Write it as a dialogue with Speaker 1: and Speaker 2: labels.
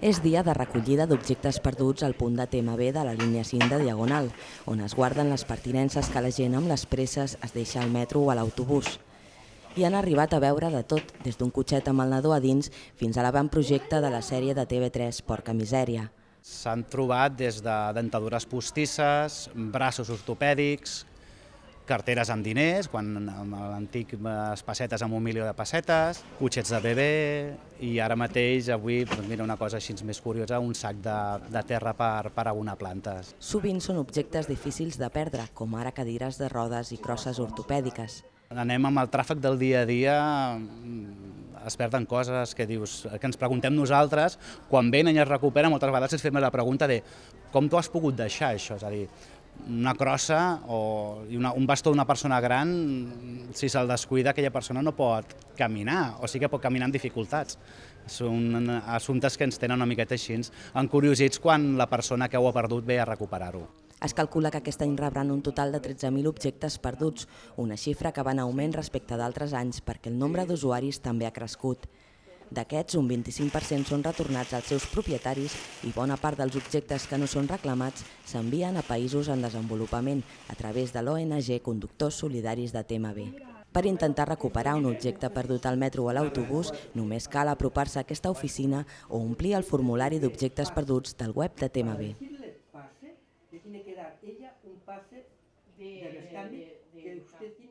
Speaker 1: És dia de recollida d'objectes perduts al punt de TMB de la línia 5 de Diagonal, on es guarden les pertinences que la gent amb les presses es deixa al metro o a l'autobús. Hi han arribat a veure de tot, des d'un cotxet amb el nadó a dins fins a l'avantprojecte de la sèrie de TV3 Porca Misèria.
Speaker 2: S'han trobat des de dentadures postisses, braços ortopèdics, carteres amb diners, quan amb l'antic pessetes amb 1 milió de pessetes, cotxets de bebè i ara mateix, avui, mira una cosa així més curiosa, un sac de terra per abonar plantes.
Speaker 1: Sovint són objectes difícils de perdre, com ara cadires de rodes i crosses ortopèdiques.
Speaker 2: Anem amb el tràfic del dia a dia, es perden coses que dius, que ens preguntem nosaltres, quan venen i es recuperen, moltes vegades ens fem la pregunta de com tu has pogut deixar això, és a dir, una crossa o un bastó d'una persona gran, si se'l descuida, aquella persona no pot caminar, o sí que pot caminar amb dificultats. Són assumptes que ens tenen una miqueta així encuriosits quan la persona que ho ha perdut ve a recuperar-ho.
Speaker 1: Es calcula que aquest any rebran un total de 13.000 objectes perduts, una xifra que va en augment respecte d'altres anys perquè el nombre d'usuaris també ha crescut. D'aquests, un 25% són retornats als seus propietaris i bona part dels objectes que no són reclamats s'envien a països en desenvolupament a través de l'ONG Conductors Solidaris de TMB. Per intentar recuperar un objecte perdut al metro o a l'autobús, només cal apropar-se a aquesta oficina o omplir el formulari d'objectes perduts del web de TMB.
Speaker 3: Le tiene que dar ella un pase de rescate que usted tiene